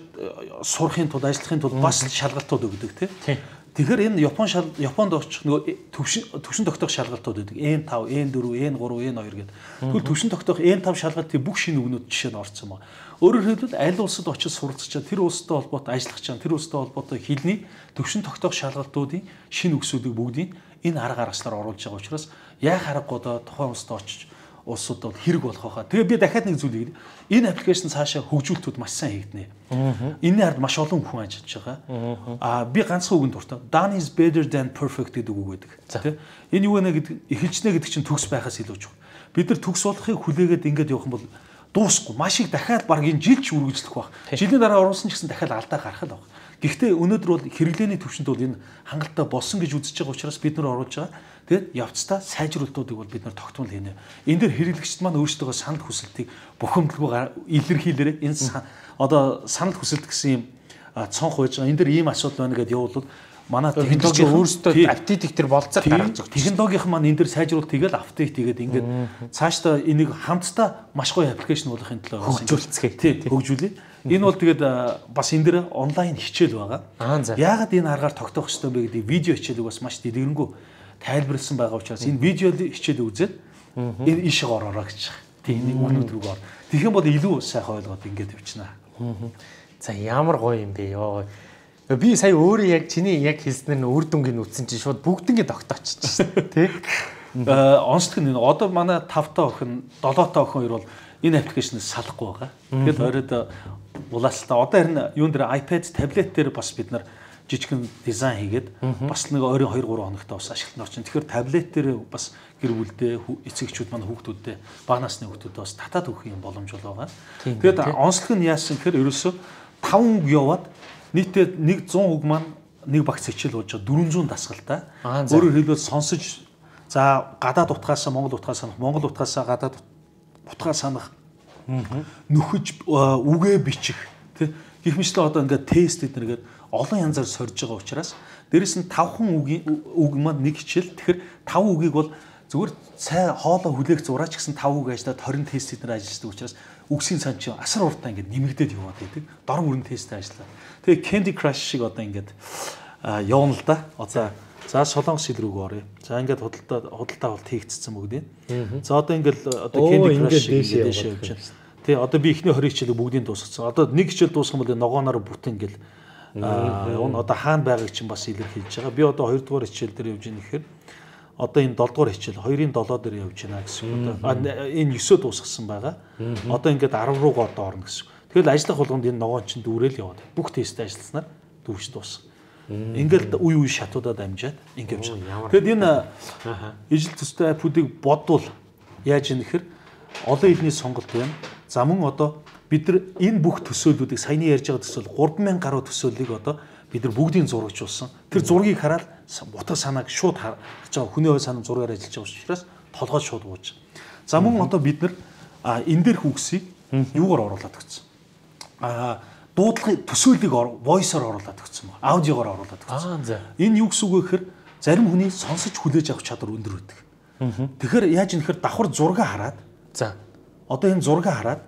сурахын тулд ажиллахын тулд бас шалгалтууд өгдөг тийм тэгэхээр энэ Япон Японд очих нөгөө төвшин төвшин тогтоох шалгалтууд байдаг. N five, N four, N three, N two гэдэг. Тэгвэл төвшин тогтоох N five шалгалтын бүх шинэ үгнүүд жишээ нь орцсон байна. Өөрөөр хэлбэл аль улсад очиж суралцж чад тэр улстай холбоотой ажиллах чад тэр улстай холбоотой хэлний төвшин тогтоох шалгалтуудын шинэ үгсүүдийг бүгдийг энэ арга аргачлаар оруулж байгаа учраас яа харахгүй одоо тухайн улсад очиж улсууд бол хэрэг болох байхаа. Тэгээ би дахиад нэг зүйл хэлье. Энэ аппликейшн цаашаа хөгжүүлэлтүүд маш сайн хийгдэнэ. Энэний ард маш олон хүн ажиллаж байгаа. Аа би ганцхан үгэнд дуртай. Done is better than perfect гэдэг үг байдаг. Тэ? Энэ юу вэ гэдэг эхэлжнэ гэдэг чинь төгс байхаас илүү чухал. Бид нар төгс болохыг хүлээгээд ингэж явах юм бол дуусахгүй. Маш их дахиад баг энэ жилч үргэлжлэх байх. Жилийн дараа оруулсан ч гэсэн дахиад алдаа гарах л баг. Гэхдээ өнөөдөр бол хэрэглээний төвшөнд бол энэ хангалттай болсон гэж үзэж байгаа учраас бид нар оруулж байгаа. Тэгээд явцдаа сайжруулалтуудыг бол бид нар тогтмол хийнэ. Энэ дээр хэрэглэгчд маань өөрсдөө санал хүсэлтийг бухимдалгүй илэрхийлээрээ энэ одоо санал хүсэлт гэсэн юм цонх байж байгаа. Энэ дээр ийм асуудал байна гэдээ явуулвал манай технологи өөрсдөө апдейт дээр болцоор гаргаж байгаа. Технологийн маань энэ дээр сайжруулалт хийгээл апдейт хийгээд ингээд цаашдаа энийг хамтдаа маш гоё аппликейшн болгохын төлөө хөгжүүлцгээе. Тийм хөгжүүлээ. Энэ бол тэгээд бас энэ дээр онлайн хичээл байгаа. Яагаад энэ аргаар тогтоох ёстой бэ гэдэг видео хичээлийг бас маш дэлгэрэнгүй тайлбарлсан байгаа учраас энэ видео хичээл үзээд энэ ишиг ороорой гэж байна. Тийм нэг үгнүүд рүү ор. Тэгэх юм бол илүү сайхан ойлгоод ингээд явчихна. За ямар гоё юм бэ ёо. Би сая өөрөө яг чиний яг хэлснээр нь үр дүнгийн үтсэн чинь шууд бүгднийг тогтоочихсон тий. Онцлог нь одоо манай five та охин, seven та охин хоёр бол энэ аппликейшнээс салахгүй байгаа. Тэгэхээр оройд улаалтаа одоо харин юун дээр iPad, таблет дээр бас бид нар жижигхэн дизайн хийгээд бас нэг ойрын two three хоногт бас ашиглалтанд орчин. Тэгэхээр таблет дээр бас гэр бүлдээ эцэгчүүд манай хүүхдүүдээ бага насны хүүхдүүдээ бас татаад өгөх юм боломж байгаа. Тэгээд онцлог нь яасан гэхээр ерөөсөө five үг яваад нийтдээ one hundred үг маань нэг багц хичээл болж байгаа four hundred дасгалтай. Өөрөөр хэлбэл сонсож за гадаад утгаасаа монгол утгаа санах, монгол утгаасаа гадаад утгаа санах, нөхөж үгээ бичих тий гэх мэтлээ одоо ингээд тест эднэргээд олон янзаар сорж байгаа учраас дээрэс нь five үгийн үг маань нэг хичээл. Тэгэхээр five үгийг бол зүгээр цай хоолоо хүлээх зураач гэсэн five үг ажиллаад twenty тест эднэр ажилладаг учраас үгсийн сан чинь асар уртаа ингээд нэмэгдээд яваад байдаг. Дор бүрэн тесттэй ажиллаа. Тэгээ Candy Crush шиг одоо ингээд явна л да. Одоо за Солонгос хэл рүүгээ оръё. За ингээд худалдаа худалдаа болт хийгдсэн бүгдийг. За одоо ингээд одоо Candy Crush шиг дэшээ явж байна. Тэ одоо би эхний twenty хичээлийг бүгдийг дуусгасан. Одоо нэг хичээл дуусгах юм бол ногооноор бүтэн ингээд одоо хаана байгааг чинь бас илэрхийлж байгаа. Би одоо two дугаар хичээл дээр явж байгаа гэхээр одоо энэ seven дугаар хичээл two-ын seven дээр явж байна гэсэн. Одоо энэ nine дуусгасан байгаа. Одоо ингээд ten руугаа одоо орно гэсэн. Тэгэл ажиллах болгонд энэ ногоон чинь дүүрэл яваад. Бүх тесттэй ажилласнаар дүүж дууссан. Ингээд үе үе шатуудад амжаад ингээд явж байгаа. Тэгэд энэ ижил төстэй аппуудыг бодвол яаж юм нэхэр олон хэлний сонголт байна. За мөн одоо бид нар энэ бүх төсөөллүүдийг саяны ярьж байгаа төсөөл three thousand гаруй төсөөллийг одоо бид нар бүгдийг зурагжуулсан. Тэр зургийг хараад утга санааг шууд харж байгаа хүний ой санаа зургаар ажиллаж байгаа учраас толгой шууд бууж. За мөн одоо бид нар энэ дээрх үгсийг юугаар оруулаад өгсөн. Аа дуудлагын төсөөллийг voice-оор оруулаад өгсөн ба. Аудиогоор оруулаад өгсөн. Энэ юу гэсэн үг вэ гэхээр зарим хүний сонсож хүлээж авах чадвар өндөр байдаг. Тэгэхээр яаж юм гэхээр давхар зураг хараад за одоо энэ зураг хараад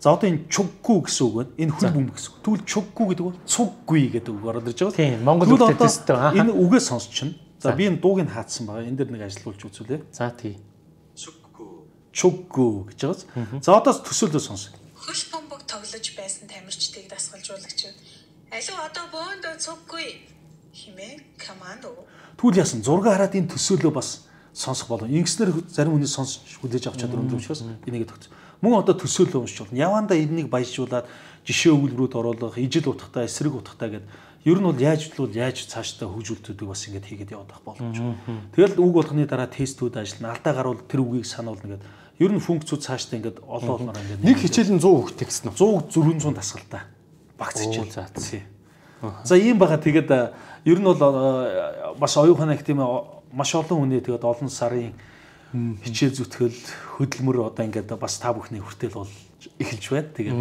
за одоо энэ чуггүй гэсэн үг байна. Энэ хөл бөмбөг гэсэн. Тэгвэл чуггүй гэдэг нь цуггүй гэдэг үг ороод ирж байгаа. Тийм, Монгол үгтэй төстэй. Энэ үгээ сонсчихно. За би энэ дууг нь хаацсан байгаа. Энэ дээр нэг ажилуулж үзүүлээ. За тий. Чуггүй. Чуггүй гэж байгаа. За одоо төсөөлөө сонс. Хөл бөмбөг тоглож байсан тамирчдыг дасгалжуулагч. Алуу одоо бөөндөө цуггүй хэмээн команд уу. Тэгвэл яасан зураг хараад энэ төсөөлөө бас сонсох болов. Ингэснээр зарим хүний сонсож хүлээж авах чадвар өндөр учраас энийг төгс. Мөн одоо төсөөлөө уншиж болно. Явандаа энийг баяжуулаад жишээ өгүүлбэрүүд оруулах, ижил утгатай, эсрэг утгатай гэдэг. Ер нь бол яаж бол яаж цаашдаа хөгжүүлдэг бас ингэж хийгээд явах боломж. Тэгэл үг болгоны дараа тестүүд ажиллана. Алдаа гарвал тэр үгийг сануулна гэдэг. Ер нь функцүүд цаашдаа ингэж олон олноор ингэж нэг хичээл нь сто хүүхд гэсэн үү? сто дөрвөн зуун дасгалтай. Багц хичээл. За ийм байгаа. Тэгээд ер нь бол бас оюуханах тийм маш олон хүний тэгээд олон сарын хичээл зүтгэл хөдөлмөр одоо ингээд бас та бүхний хүртэл бол эхэлж байна. Тэгээд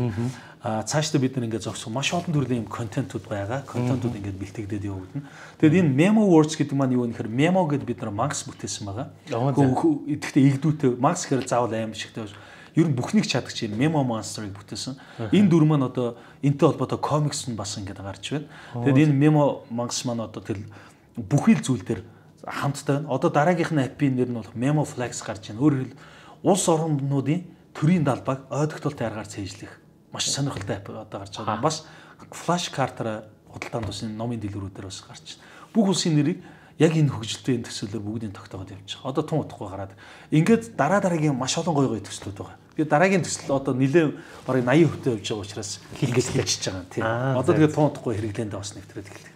цаашдаа бид нар ингээд зогсох маш олон төрлийн юм контентууд байгаа. Контентууд ингээд бэлтгэгдээд явагдана. Тэгээд энэ memo words гэдэг маань юу вэ гэхээр memo гэдэг бид нар Max бүтээсэн байгаа. Тэгэхдээ игдүүтэй Max гэхээр заавал аим шигтэй. Ер нь бүхнийг чадах чинь memo monster-ыг бүтээсэн. Энэ дүр маань одоо энтэй холбоотой комикс нь бас ингээд гарч байна. Тэгээд энэ memo Max маань одоо тэл бүхий л зүйл дээр хамттай байна. Одоо дараагийнхны аппийн нэр нь бол Memo Flex гарч байна. Өөрөөр хэлбэл улс орнуудын төрийн далбааг ойдогтолтой аргаар цээжлэх маш сонирхолтой апп одоо гарч байгаа. Бас флаш картаараа худалдаанд бас энэ номын дэлгүүрүүдээр бас гарч байна. Бүх улсын нэрийг яг энэ хөгжилтэй энэ төсөөлөөр бүгдийг тогтоогод явж байгаа. Одоо тун утгагүй гараад ингээд дараа дараагийн маш олон гоё гоё төслүүд байгаа. Би дараагийн төсөл одоо нэлээд бараг eighty percent явж байгаа учраас ингээд хийчихэж байгаа юм тийм. Одоо тэгээд тун утгагүй хэрэглээндээ бас нэвтрээд эхэллээ.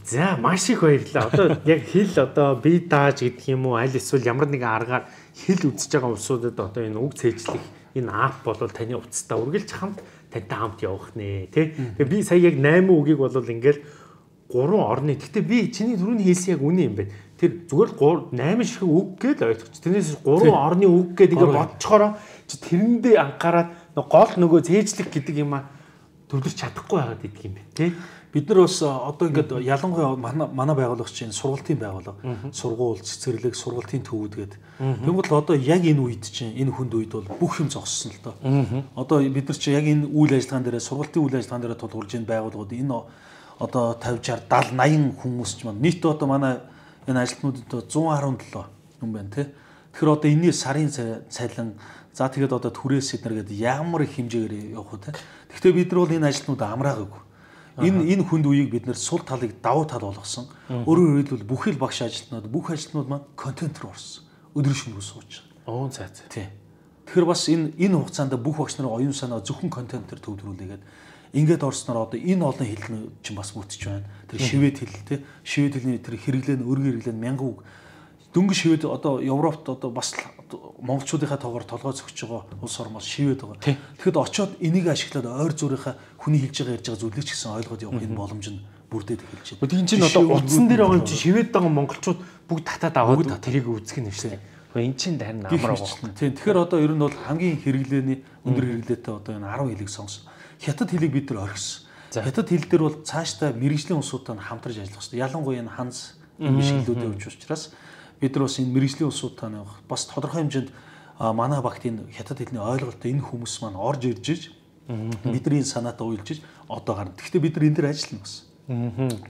За маш их баярлалаа. Одоо яг хэл одоо бие дааж гэдэг юм уу аль эсвэл ямар нэгэн аргаар хэл үзэж байгаа улсуудад одоо энэ үг цээжлэх энэ ап бол таны утастаа үргэлж хамт тантай хамт явах нэ тий. Тэгээ би сая яг eight үгийг бол ингээл гурван орны. Гэхдээ би чиний түрүүний хэлсэн яг үнэн юм байна. Тэр зүгээр eight шиг үг гээл ойлгоч. Тэрнээс гурван орны үг гэдэг ингээ бодцохороо чи тэрэндээ анхаарад гол нөгөө цээжлэх гэдэг юм а төвлөрч чадахгүй байгаад идэг юм байна тий. Бид нар бас одоо ингээд ялангуяа манай байгууллагч чинь сургалтын байгууллага, сургууль, цэцэрлэг, сургалтын төвүүд гэдэг. Тэгвэл одоо яг энэ үед чинь энэ хүнд үед бол бүх юм зогссон л доо. Одоо бид нар чинь яг энэ үйл ажиллагаан дээр сургалтын үйл ажиллагаан дээр тулгуурж энэ байгууллагууд энэ одоо fifty sixty eighty хүмүүс ч маань нийт одоо манай энэ ажилтнуудад one seventy seven юм байна тий. Тэгэхээр одоо энэний сарын цалин за тэгээд одоо түрээс эднэр гэдэг ямар их хэмжээгээр явах вэ тий. Гэхдээ бид нар бол энэ ажилтнууд амраагүй. Энэ энэ хүнд үеийг бид нэр сул талыг давуу тал болгосон. Өөрөөр хэлбэл бүхэл багш ажилтнууд бүх ажилтнууд маань контент руу орсон. Өдөр шөнөгүй сууж байгаа. Оо за за. Тийм. Тэгэхээр бас энэ энэ хугацаанд бүх багш нарын оюун санаа зөвхөн контентээр төвлөрүүлээгээд ингээд орсноор одоо энэ олон хэлний чинь бас бүтэж байна. Тэр шивэд хэл те шивэд хэлний тэр хэрэглээ нь өргөн хэрэглээ нь мянган үг. Дөнгөж шивэд одоо Европт одоо бас монголчуудынхаа тоогоор толгой зөгч байгаа улс ормоос шивэд байгаа. Тэгэхэд очиод энийг ашиглаад ойр зүрийнхаа хүний хэлж байгаа ярьж байгаа зүйлийг ч гэсэн ойлгоод явах энэ боломж нь бүрдээд эхэлж байна. Тийм чинь одоо утсан дээр байгаа юм чи шивэд байгаа монголчууд бүгд татаад аваад тэрийг үзэх нь шүү дээ. Энэ чинь харин амар байгаа. Тийм. Тэгэхээр одоо ер нь бол хамгийн хэрэглээний өндөр хэрэглээтэй одоо энэ ten хэлийг сонгосон. Хятад хэлийг бид нар орхисон. Хятад хэл дээр бол цаашдаа мэрэгжлийн улсуудтай хамтарч ажиллах хэрэгтэй. Ялангуяа энэ ханз биш хэллүүд явж учраас бид нар бас энэ мэрэгжлийн улсуудтай нэг бас тодорхой хэмжээнд манай багт энэ хятад хэлний ойлголттой энэ хүмүүс маань орж ирж иж бидний санаатаа уйлж иж одоо гарна. Гэхдээ бид нар энэ дээр ажиллана бас.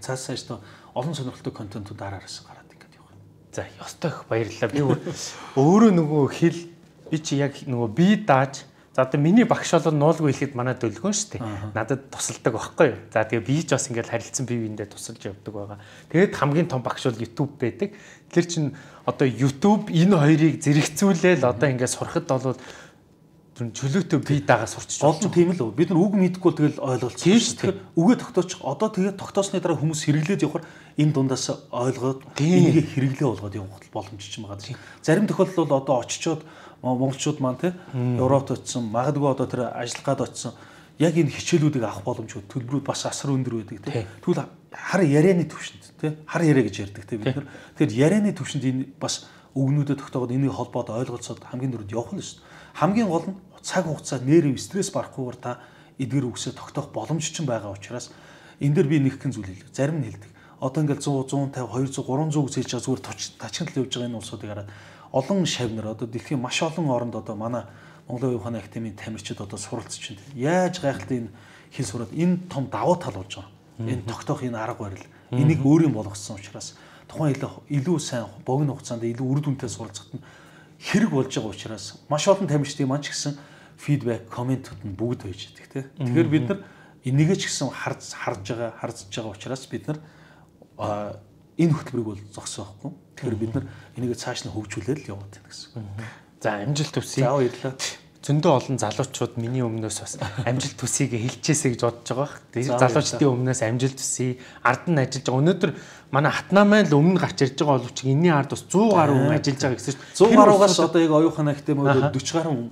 Цаас цаашдаа олон сонирхолтой контентууд дараараас гараад ингээд явах. За ёстой их баярлалаа. Би өөрөө нөгөө хэл би чи яг нөгөө бие дааж за одоо миний багш бол нуулгүй хэлэхэд манай дөлгөн шүү дээ. Надад тусалдаг байхгүй юу. За тэгээ би ч бас ингээд харилцан бие биендээ тусалж явдаг байгаа. Тэгээд хамгийн том багш бол YouTube байдаг. Тэр чин одоо YouTube энэ хоёрыг зэрэгцүүлээл одоо ингээд сурахад бол чөлөөтэй бие дагаа сурч болж тийм л бид нар үг мэдгүй тэгэл ойлголцсон шүү дээ. Үгээ тогтоочих одоо тэгээд тогтоосны дараа хүмүүс хэрэглээд явахаар энэ дундаас ойлгоод энийг хэрэглээ болгоод явах боломж ч юм байгаа. Зарим тохиолдолд бол одоо очичоод монголчууд маань те Европт очсон магадгүй одоо тэр ажиллах гад очсон яг энэ хичээлүүдийг авах боломжгүй төлбөрүүд бас асар өндөр байдаг тийм. Тэгвэл хар ярианы төвшөнд тийм хар яриа гэж ярьдаг тийм бид нар. Тэгэхээр ярианы төвшөнд энэ бас өгнүүдэд тогтоогод энийг холбоод ойлголцоод хамгийн дөрөнд явах нь шүү дээ. Хамгийн гол нь цаг хугацаа нэр стресс барахгүйгээр та эдгэр үгсээ тогтоох боломж ч байгаа учраас энэ дээр би нэг хэн зүйл хэлдэг. Зарим нь хэлдэг. Одоо ингээл сто, сто пঞ্цаав, двести, триста үсэж байгаа зүгээр тачгал явж байгаа энэ улсуудыг хараад олон шавнар одоо дэлхийн маш олон оронд одоо манай Монголын оюун ухааны академийн тамирчид одоо суралцж байна. Яаж гайхалтай энэ хэл сураад энэ том давуу тал болж байгаа. Энэ тогтоох энэ арга барил энийг өөрийн болгосон учраас тухайн илүү сайн богино хугацаанд илүү үр дүнтэй суралцахад нь хэрэг болж байгаа учраас маш олон тамирчдын маань ч гэсэн фидбек, комментууд нь бүгд байж байдаг тийм. Тэгэхээр бид нар энийгээ ч гэсэн харж харж байгаа, харж байгаа учраас бид нар энэ хөтөлбөрийг бол зогсоохгүй. Тэгэхээр бид нар энийг цааш нь хөгжүүлээд л яваад байна гэсэн. За амжилт төсөй. За баярлалаа. Зөндөө олон залуучууд миний өмнөөс бас амжилт төсөйг хэлчихээсэй гэж бодож байгаа. Тэгээд залуучдын өмнөөс амжилт төсөй, ард нь ажиллаж байгаа. Өнөөдөр манай Хатнамайн л өмнө гарч ирж байгаа боловч энэний ард бас сто гаруй хүн ажиллаж байгаа гэсэн чинь сто гаруйгаас одоо яг оюун ухааны академиуд forty гаруй хүн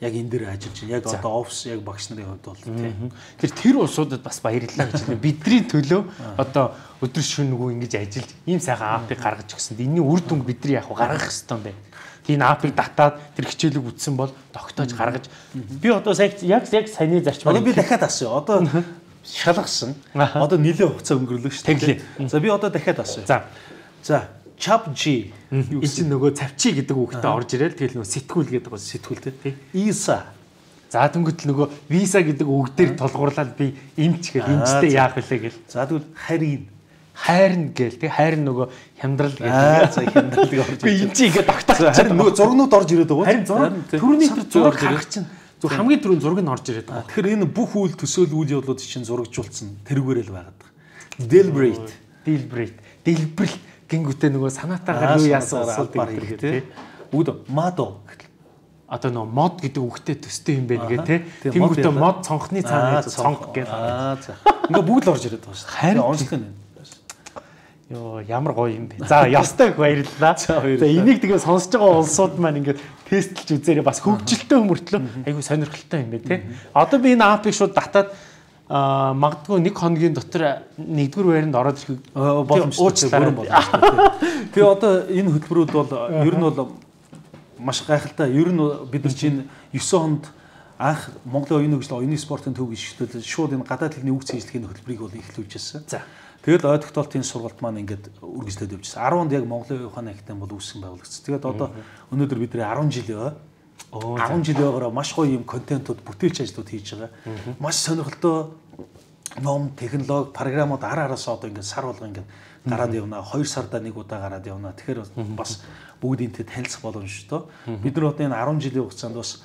яг энэ дээр ажиллаж байна. Яг одоо офс яг багш нарын хувьд бол тийм. Тэр тэр улсуудад бас баярлалаа гэж байна. Бидний төлөө одоо өдөр шөнөгүй ингэж ажиллаж ийм сайхан апыг гаргаж өгсөнд энэний үр дүнг бидний яг гаргах хэрэгтэй юм байна. Тийм апыг татаад тэр хичээлийг үтсэн бол тогтоож гаргаж би одоо яг яг саяны зарчмаар би дахиад асууя. Одоо шалгасан. Одоо нэлээд хугацаа өнгөрлөө шүү дээ. За би одоо дахиад асууя. За. За Chap G энэ чинь нөгөө цавчи гэдэг үгтэй орж ирэл тэгэл нөгөө сэтгүүл гэдэг бол сэтгүүл тий. Isa. За тэнгуут л нөгөө visa гэдэг үг дээр тулгуурлаад би эмч гэл эмчтэй яах вүлээ гэл. За тэгвэл харин хайрна гээл тий хайр нөгөө хямдрал гэдэг. Аа за хямдралыг орж ирж. Би энэ чинь ингээд тогтоох. Харин нөгөө зургнууд орж ирээд байгаа. Харин зураг түрүүний тэр зураг харах чинь зөв хамгийн түрүүний зураг нь орж ирээд байгаа. Тэгэхээр энэ бүх үйл төсөөл үйл явдлууд чинь зурагжуулсан тэрүүгээрэл байгаад байгаа. Deliberate, deliberate, deliberate гингүүтээ нөгөө санаатаагаар юу яасан усууд гэдэг тий. Бүгд мадо гэхэл одоо нөгөө мод гэдэг үгтэй төстэй юм байна гэ тий. Тэнгүүтээ мод цонхны цаана цонх гэх. Аа за. Ингээ бүгд л орж ирээд байгаа шүү дээ. Харин онцлог нь. Йоо ямар гоё юм бэ. За ястай их баярлалаа. За энийг тэгээ сонсож байгаа улсууд маань ингээд тестлж үзээрэй бас хөгжилтэй хүмүүртлөө айгүй сонирхолтой юм байна тий. Одоо би энэ апыг шууд татаад а магадгүй нэг хоногийн дотор нэгдүгээр байранд ороод ирэх боломжтой бүрэн боломжтой. Тэгээ одоо энэ хөтөлбөрүүд бол ер нь бол маш гайхалтай. Ер нь бид нар чинь нine хонд анх Монголын оюуны хөгжил, оюуны спортын төв гишгтүүд шууд энэ гадаад хэлний үг цэжлэхийн хөтөлбөрийг бол эхлүүлжсэн. За. Тэгэл ой тогтоолтын сургалт маань ингээд үргэлжлээд явжсэн. ten онд яг Монголын оюун ухааны академи бол үүсгэн байгуулагдсан. Тэгээд одоо өнөөдөр бидний ten жил яваа. ten жил яваараа маш гоё юм контентууд, бүтээлч ажлууд хийж байгаа. Маш сонирхолтой ном, технологи, програмууд ар араас одоо ингээд сар болго ингээд гараад явна. two сарда нэг удаа гараад явна. Тэгэхээр бас бүгдийнтэй танилцах боломжтой. Бид нар одоо энэ ten жилийн хугацаанд бас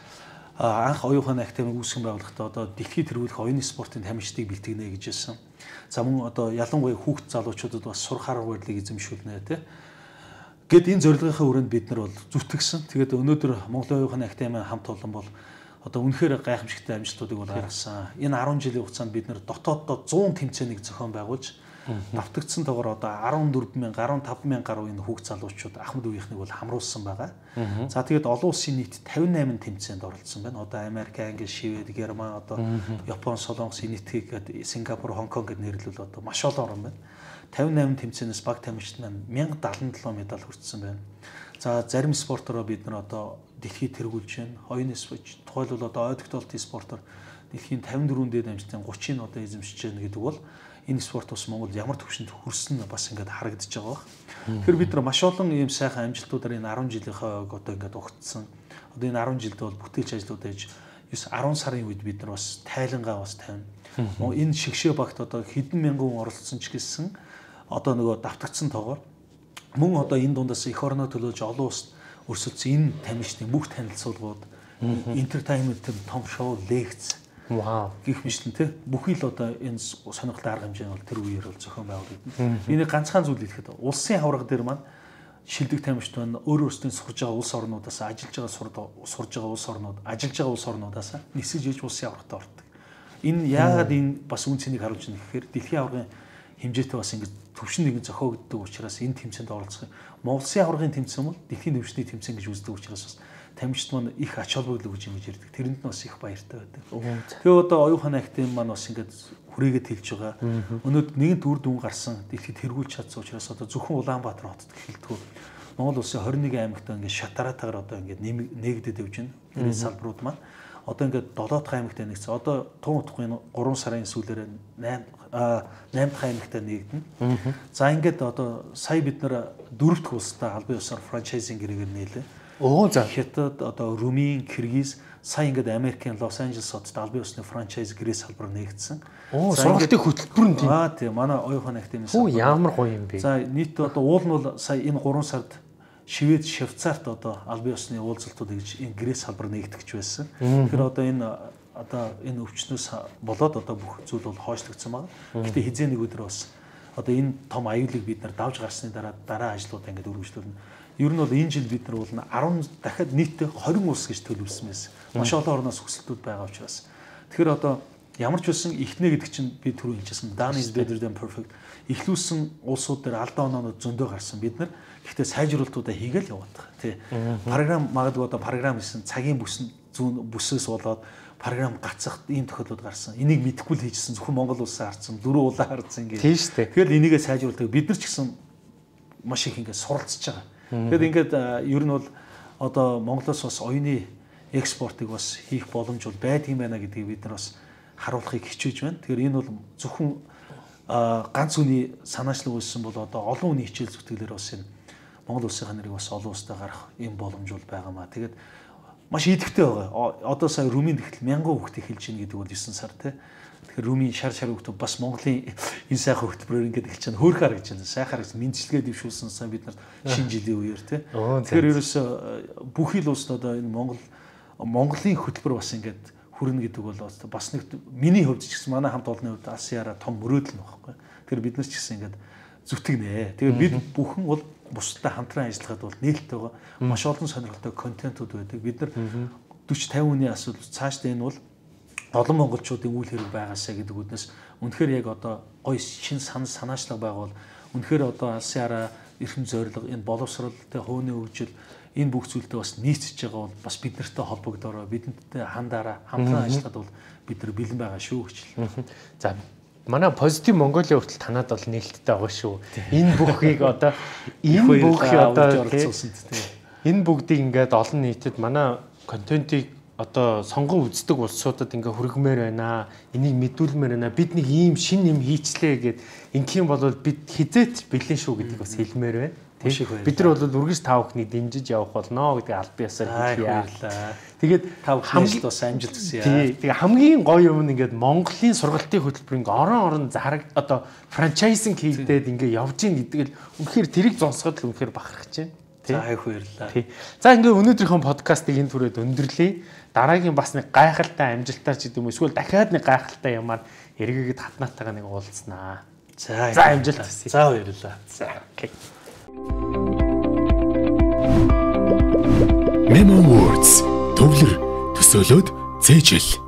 анх оюун ухааны академи үүсгэн байгуулахдаа одоо дэлхийд тэргүүлэх оюуны спортын тамирчдыг бэлтгэнэ гэж хэлсэн. За мөн одоо ялангуяа хүүхд залуучуудад бас сурах арга барилыг эзэмшүүлнэ тий. Гэт энэ зорилгынхаа хүрээнд бид нар бол зүтгэсэн. Тэгээд өнөөдөр Монголын оюун ухааны академийн хамт олон бол одоо үнэхээр гайхамшигтай амжилтуудыг бол гаргасан. Энэ ten жилийн хугацаанд бид нар дотооддоо one hundred тэмцээнийг зохион байгуулж давтагдсан тоогоор одоо fourteen thousand, fifteen thousand гаруй энэ хүүхд залуучууд Ахмад үеийнхнийг бол хамруулсан байгаа. За тэгээд олон улсын нийт fifty-eight тэмцээнд оролцсон байна. Одоо Америк, Англи, Швед, Герман, одоо Япон, Солонгос, Энэтхэг гэдэг Сингапур, Хонконг гэд нэрлэл одоо маш олон орн байна. fifty-eight тэмцээнээс баг тамирчид маань one thousand seventy-seven медаль хүртсэн байна. За зарим спортороо бид нар одоо дэлхийд тэргүүлж байна. Оюуны спорт тухайлбал одоо ой тогтоолтын спортоор дэлхийн fifty-four дээд амжилтын thirty-ыг одоо эзэмшиж байна гэдэг бол энэ спорт бас Монголд ямар төвшөнд хүрсэн бас ингээд харагдаж байгаа баг. Тэгэхээр бид нар маш олон ийм сайхан амжилтуудаар энэ ten жилийнхаа одоо ингээд угтсан. Одоо энэ ten жилд бол бүтээлч ажлууд ээж ten сарын үед бид нар бас тайлангаа бас тавина. Энэ шигшээ багт одоо хэдэн мянган хүн оролцсон ч гэсэн одоо нөгөө давтагдсан тоогоор мөн одоо энэ дундаас эх орноо төлөөлж олон улсад өрсөлдсөн энэ тамирчдын бүх танилцуулгууд, entertainment-ийн том шоу, лекц вау гэх мэтлэн тий бүхий л одоо энэ сонирхолтой арга хэмжээ бол тэр үеэр бол зохион байгуулагдана. Би нэг ганцхан зүйл хэлэхэд улсын аварга дээр маань шилдэг тамирчид байна. Өөр өөрсдийн сурж байгаа улс орнуудаас ажиллаж байгаа сурж байгаа улс орнууд, ажиллаж байгаа улс орнуудаас нисэж иж улсын аваргатай ордог. Энэ яагаад энэ бас үн цэнийг харуулж байна гэхээр дэлхийн аваргын хэмжээтэй бас ингэж төвшин нэгэн зохиогддог учраас энэ тэмцээнд оролцох. Монголын аваргын тэмцээн бол дэлхийн төвшний тэмцээн гэж үздэг учраас бас тамирчид маань их ач холбогдол өгж юм гэж ярьдаг. Тэрэнд нь бас их баяртай байдаг. Тэгээ одоо оюухан актив маань бас ингээд хүрээгээд хэлж байгаа. Өнөөдөр нэгэн үр дүн гарсан дэлхийд тэргүүлж чадсан учраас одоо зөвхөн Улаанбаатар хотод эхэлдэг. Монгол улсын двадцать one аймагт ингээд шатаратаагаар одоо ингээд нээгдэд явж байна. Энэ салбарууд маань одоо ингээд seven дахь аймагт нэгсэн. Одоо Тун утгын three сарын сүүлээр eight eight дахь аймагт нээгдэнэ. За ингээд одоо сая бид нэр four дахь улстай албан ёсоор франчайзинг гэрээгээр нээлээ. Оо за Хятад одоо Румын, Киргиз, сая ингээд Америкийн Лос Анжелес хотод албан ёсны франчайз гэрээ салбар нээгдсэн. Оо сургалтын хөтөлбөр нь тийм. Аа тийм манай оюухан активны салбар. Оо ямар гоё юм бэ. За нийт одоо уул нь бол сая энэ three сард Швед, Швейцарт одоо албан ёсны уулзалтууд гэж энэ гэрээ салбар нээгдэж байсан. Тэгэхээр одоо энэ одоо энэ өвчнөөс болоод одоо бүх зүйл бол хойшлогдсон байна. Гэхдээ хизээ нэг өдөр бас одоо энэ том аюулыг бид нар давж гарсны дараа дараа ажлуудаа ингээд үргэлжлүүлнэ. Ер нь бол энэ жил бид нар бол ten дахиад нийтдээ twenty улс гэж төлөвлөсөн байсан. Маш олон орноос хүсэлтүүд байгаа учраас. Тэгэхээр одоо ямар ч байсан ихнэ гэдэг чинь би түрүү хэлчихсэн. Done is better than perfect. Ихлүүлсэн улсууд дээр алдаа оноонууд зөндөө гарсан. Бид нар гэхдээ сайжруулалтуудаа хийгээл яваад байгаа. Тий. Програм магадгүй одоо програм хийсэн цагийн бүс зүүн бүсээс болоод програм гацах ийм тохиолдлууд гарсан. Энийг мэдэхгүй л хийжсэн зөвхөн Монгол улсаа харсан, дөрөв улаан харсан гэх. Тийм шүү дээ. Тэгэхээр энийгээ сайжруулдаг. Бид нар ч гэсэн маш их ингээд суралцж байгаа. Тэгэхээр ингээд ер нь бол одоо Монголоос бас оюуны экспортыг бас хийх боломж бол байдгийн байна гэдгийг бид нар бас харуулахыг хичээж байна. Тэгэхээр энэ бол зөвхөн ганц үний санаачлаг үүссэн бол одоо олон үний хичээл зүтгэлээр бас энэ Монгол улсын нэрийг бас олон улстай гарах юм боломж бол байгаамаа. Тэгээд маш идэвхтэй байгаа. Одоо сая Румын тэгтэл мянган хүүхдээ хэлж гин гэдэг бол nine сар тий. Тэгэхээр Румын шар шар хүүхдээ бас Монголын энэ сайхан хөтөлбөрөөр ингээд хэлж чана хөөрхөр гэж байна. Сайхаар гэж мэдчилгээ дэвшүүлсэн сан бид нарт шинэ жилийн үеэр тий. Тэгэхээр ерөөсө бүх ил улсад одоо энэ Монгол Монголын хөтөлбөр бас ингээд хүрнэ гэдэг бол бас нэг миний хувьд ч гэсэн манай хамт олонны хувьд Асиара том мөрөөдөл нь багхгүй. Тэгэхээр бид нар ч гэсэн ингээд зүтгэнэ. Тэгээ бид бүхэн бол бусдад хамтран ажиллахад бол нээлттэй байгаа. Маш олон сонирхолтой контентууд байдаг. Бид нар forty fifty хүний асуудал цаашдаа энэ бол олон монголчуудын үйл хэрэг байгаасаа гэдэг үднэс үнэхээр яг одоо гоё шин сан санаачлаг байгуул үнэхээр одоо Асиара эрхэм зорилго энэ боловсролтой хууны хөгжил энэ бүх зүйлтэй бас нийцэж байгаа бол бас бид нартай холбогдороо бидэнтэй хандаараа хамтран ажиллахад бол бид нар бэлэн байгаа шүү гэж хэлээ. За манай позитив Монголын хүртэл танаад бол нээлттэй байгаа шүү. Энэ бүхийг одоо энэ бүхий одоо энэ бүгдийг ингээд олон нийтэд манай контентыг одоо сонгон үздэг улсуудад ингээ хүргэмээр байна. Энийг мэдүүлмээр байна. Бид нэг ийм шин юм хийчлээ гэд ингийн бол бид хизээч бэлэн шүү гэдгийг бас хэлмээр байна. Бид нар бол үргэлж та бүхнийг дэмжиж явах болно гэдэг албан ёсоор хэлье. Тэгээд та бүхэнд бас амжилт хүсье. Тэгээ хамгийн гоё юм нь ингээд Монголын сургалтын хөтөлбөр ингээ орон орон зараг одоо франчайзинг хийгдээд ингээ явж ийн гэдэг л үнэхээр тэрийг зонсоход л үнэхээр бахархаж байна. За их баярлалаа. За ингээ өнөөдрийнхөө подкастыг энэ түрээд өндөрлөе. Дараагийн бас нэг гайхалтай амжилтаар ч гэдэг юм эсвэл дахиад нэг гайхалтай юмар эргээгээд хатнаатайгаа нэг уулзнаа. За за амжилт хүсье. За баярлалаа. За окей. Memo Words төвлөр төсөөлөд цээжил.